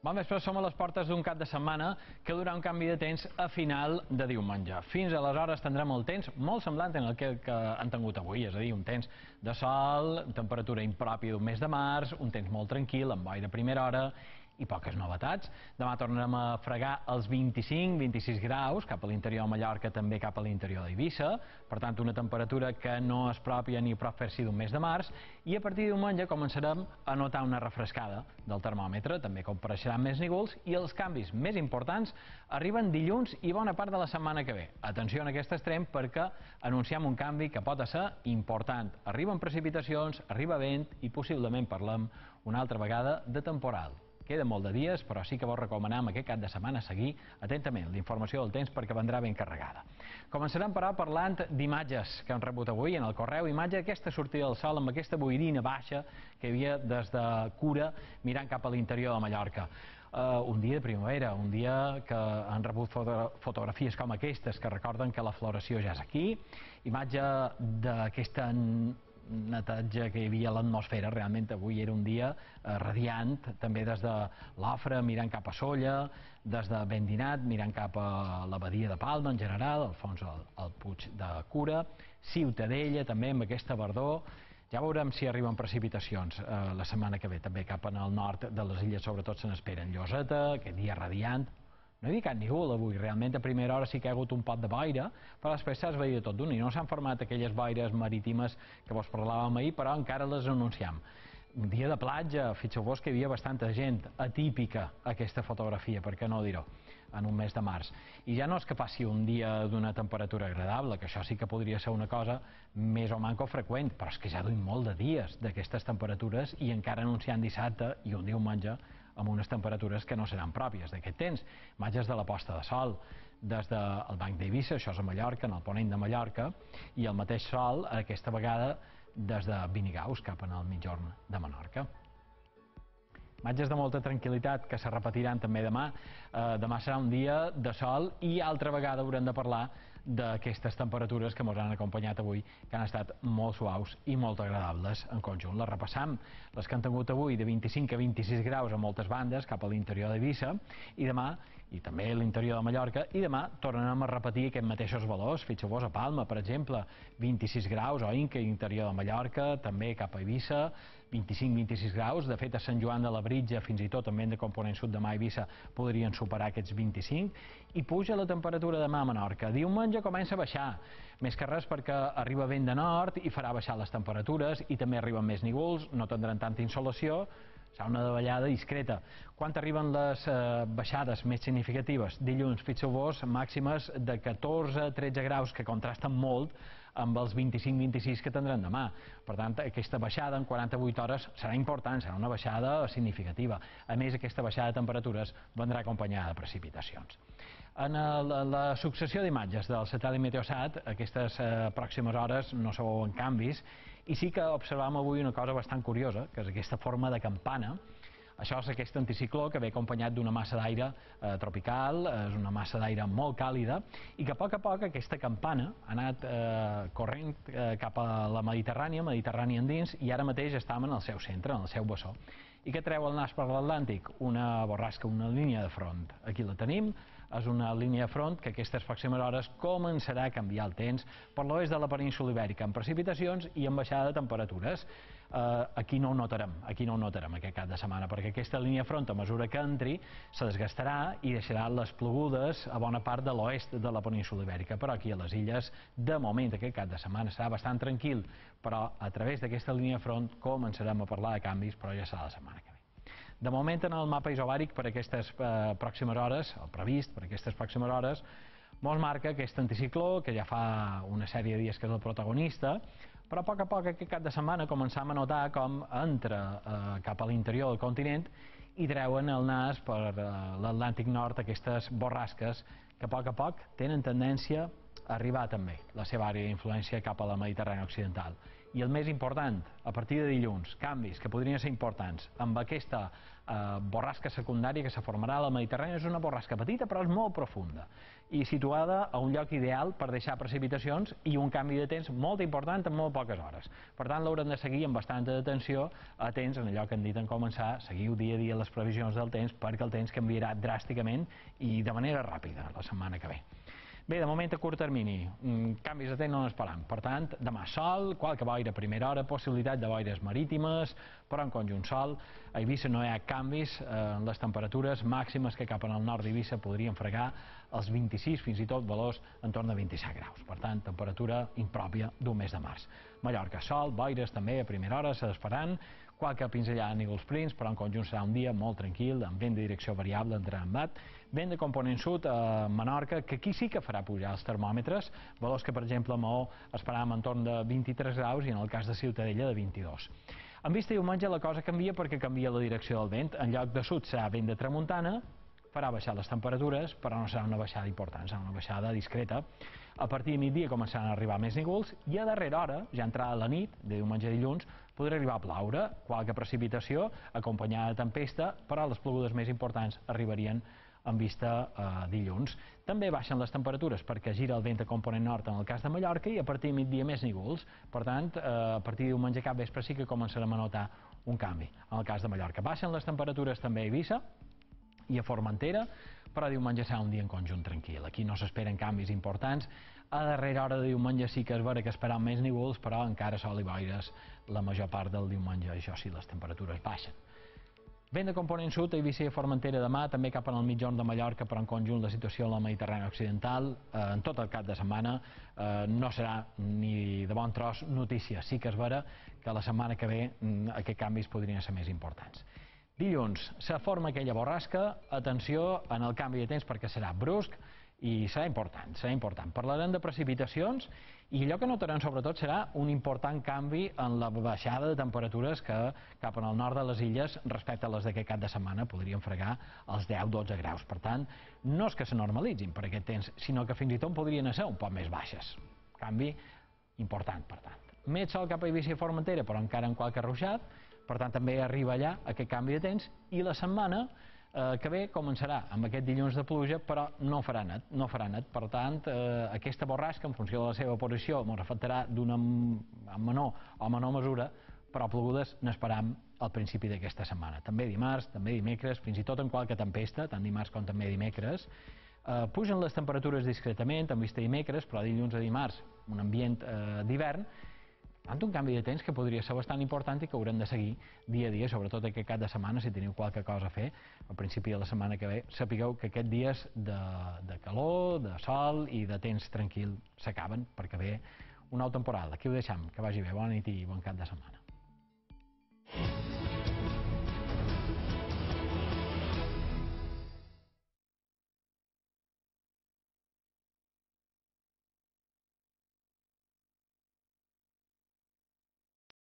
Bon vespre, som a les portes d'un cap de setmana que durà un canvi de temps a final de diumenge. Fins aleshores tindrem el temps molt semblant en el que han tingut avui, és a dir, un temps de sol, temperatura impròpia d'un mes de març, un temps molt tranquil, amb boira a primera hora i poques novetats. Demà tornarem a fregar els 25-26 graus, cap a l'interior de Mallorca, també cap a l'interior d'Eivissa. Per tant, una temperatura que no és pròpia ni prop fer-s'hi d'un mes de març. I a partir de diumenge començarem a notar una refrescada del termòmetre, també compareixeran més núvols i els canvis més importants arriben dilluns i bona part de la setmana que ve. Atenció en aquest extrem perquè anunciem un canvi que pot ser important. Arriben precipitacions, arriba vent i possiblement parlem una altra vegada de temporal. Queda molt de dies, però sí que vos recomanem aquest cap de setmana seguir atentament l'informació del temps perquè vendrà ben carregada. Començarem, però, parlant d'imatges que hem rebut avui en el correu. Imatge d'aquesta sortida del sol amb aquesta boirina baixa que hi havia des de Cura mirant cap a l'interior de Mallorca. Un dia de primavera, un dia que han rebut fotografies com aquestes que recorden que la floració ja és aquí. Imatge d'aquesta netatge que hi havia a l'atmosfera. Realment avui era un dia radiant, també des de l'Ofra mirant cap a Sóller, des de Vendinat mirant cap a la badia de Palma en general, al fons el Puig de Cura, Ciutadella també amb aquesta verdor. Ja veurem si arriben precipitacions la setmana que ve, també cap al nord de les illes sobretot se n'esperen. Lloseta, aquest dia radiant. No hi havia cap núvol avui, realment a primera hora sí que hi ha hagut un pot de boira, però després s'ha esvaït tot d'un i no s'han format aquelles boires marítimes que vos parlàvem ahir, però encara les anunciem. Un dia de platja, fixeu-vos que hi havia bastanta gent, atípica aquesta fotografia, per què no dir-ho, en un mes de març. I ja no és que passi un dia d'una temperatura agradable, que això sí que podria ser una cosa més o manco freqüent, però és que ja duim molt de dies d'aquestes temperatures i encara anunciant dissabte i un diumenge amb unes temperatures que no seran pròpies d'aquest temps. Imatges de la posta de sol des del Banc d'Eivissa, això és a Mallorca, en el ponent de Mallorca, i el mateix sol, aquesta vegada, des de Vinigaus, cap al migjorn de Menorca. Imatges de molta tranquil·litat que se repetiran també demà. Demà serà un dia de sol i altra vegada haurem de parlar d'aquestes temperatures que ens han acompanyat avui, que han estat molt suaus i molt agradables en conjunt. Les repassam, les que han tingut avui de 25 a 26 graus a moltes bandes cap a l'interior d'Eivissa i demà, i també a l'interior de Mallorca, i demà tornarem a repetir aquests mateixos valors. Fixeu-vos a Palma, per exemple, 26 graus, o Inca, interior de Mallorca, també cap a Eivissa, 25-26 graus. De fet, a Sant Joan de la Britja, fins i tot també de component sud de mà Eivissa, podrien superar aquests 25. I puja la temperatura demà a Menorca. Diumenge comença a baixar, més que res perquè arriba vent de nord i farà baixar les temperatures i també arriben més núvols, no tindran tanta insolació, serà una davallada discreta. Quan arriben les baixades més significatives? Dilluns, fixeu-vos, màximes de 14-13 graus, que contrasten molt amb els 25-26 que tindran demà. Per tant, aquesta baixada en 48 hores serà important, serà una baixada significativa. A més, aquesta baixada de temperatures vendrà acompanyada de precipitacions. En la successió d'imatges del satèl·lit Meteosat, aquestes pròximes hores no se veuen canvis, i sí que observam avui una cosa bastant curiosa, que és aquesta forma de campana. Això és aquest anticicló que ve acompanyat d'una massa d'aire tropical, és una massa d'aire molt càlida, i que a poc aquesta campana ha anat corrent cap a la Mediterrània endins, i ara mateix estem en el seu centre, en el seu bessó. I què treu el nas per l'Atlàntic? Una borrasca, una línia de front. Aquí la tenim, és una línia de front que aquestes pròximes hores començarà a canviar el temps per l'oest de la península Ibèrica, amb precipitacions i amb baixada de temperatures. Aquí no ho notarem aquest cap de setmana, perquè aquesta línia de front, a mesura que entri, se desgastarà i deixarà les plogudes a bona part de l'oest de la península Ibèrica. Però aquí a les illes, de moment, aquest cap de setmana serà bastant tranquil, però a través d'aquesta línia de front començarem a parlar de canvis, però ja serà la setmana que ve. De moment, en el mapa isobàric per aquestes pròximes hores, el previst per aquestes pròximes hores, mos marca aquest anticicló, que ja fa una sèrie de dies que és el protagonista, però a poc aquest cap de setmana començam a notar com entra cap a l'interior del continent i treuen el nas per l'Atlàntic Nord aquestes borrasques que a poc tenen tendència arribar també la seva àrea d'influència cap a la Mediterrània occidental. I el més important, a partir de dilluns, canvis que podrien ser importants amb aquesta borrasca secundària que se formarà a la Mediterrània. És una borrasca petita però és molt profunda i situada a un lloc ideal per deixar precipitacions i un canvi de temps molt important en molt poques hores. Per tant, l'haurem de seguir amb bastanta atenció, atents en allò que hem dit en començar, seguiu dia a dia les previsions del temps perquè el temps canviarà dràsticament i de manera ràpida la setmana que ve. Bé, de moment a curt termini, canvis de temps no n'esperam. Per tant, demà sol, qualque boira a primera hora, possibilitat de boires marítimes, però en conjunt sol. A Eivissa no hi ha canvis en les temperatures màximes que cap al nord d'Eivissa podrien fregar els 26, fins i tot valors en torn de 27 graus. Per tant, temperatura impròpia d'un mes de març. Mallorca, sol, boires també a primera hora s'esperaran, qualque pinzellada a nígols prims, però en conjunt serà un dia molt tranquil, amb vent de direcció variable entre embat, vent de component sud a Menorca, que aquí sí que farà pujar els termòmetres, valors que per exemple a Maó esperàvem entorn de 23 graus i en el cas de Ciutadella de 22. En vista diumenge la cosa canvia perquè canvia la direcció del vent, en lloc de sud serà vent de tramuntana, farà baixar les temperatures, però no serà una baixada important, serà una baixada discreta. A partir de migdia començaran a arribar més núvols i a darrera hora, ja entrada la nit, de diumenge a dilluns, podrà arribar a ploure, qualque precipitació acompanyada de tempesta, però les plogudes més importants arribarien en vista dilluns. També baixen les temperatures perquè gira el vent de component nord en el cas de Mallorca i a partir de migdia més núvols. Per tant, a partir de diumenge cap vespre sí que començarem a notar un canvi en el cas de Mallorca. Baixen les temperatures també a Eivissa i a Formentera, però diumenge serà un dia en conjunt tranquil. Aquí no s'esperen canvis importants. A darrera hora de diumenge sí que és vera que esperam més núvols, però encara sol i boires la major part del diumenge. Això sí, les temperatures baixen. Vent de component sud a Eivissa i a Formentera demà, també cap al mitjorn de Mallorca, però en conjunt la situació a la Mediterrània occidental, en tot el cap de setmana, no serà ni de bon tros notícia. Sí que és vera que la setmana que ve aquests canvis podrien ser més importants. Dilluns se forma aquella borrasca, atenció en el canvi de temps perquè serà brusc i serà important, serà important. Parlarem de precipitacions i allò que notarem sobretot serà un important canvi en la baixada de temperatures que cap al nord de les illes respecte a les d'aquest cap de setmana podrien fregar els 10-12 graus. Per tant, no és que se normalitzin per aquest temps, sinó que fins i tot podrien ser un poc més baixes. Canvi important, per tant. Més sol cap a Eivissa i Formentera, però encara amb qualque ruixat. Per tant, també arriba allà aquest canvi de temps i la setmana que ve començarà amb aquest dilluns de pluja, però no farà net. Per tant, aquesta borrasca, en funció de la seva posició, ens afectarà d'una menor o menor mesura, però plogudes n'esperam al principi d'aquesta setmana. També dimarts, també dimecres, fins i tot en qualque tempesta, tant dimarts com també dimecres. Pugen les temperatures discretament, en vista dimecres, però dilluns a dimarts un ambient d'hivern, tant un canvi de temps que podria ser bastant important i que haurem de seguir dia a dia, sobretot aquest cap de setmana, si teniu qualque cosa a fer al principi de la setmana que ve. Sapigueu que aquests dies de calor, de sol i de temps tranquil s'acaben perquè ve una altra temporada. Aquí ho deixem, que vagi bé, bona nit i bon cap de setmana.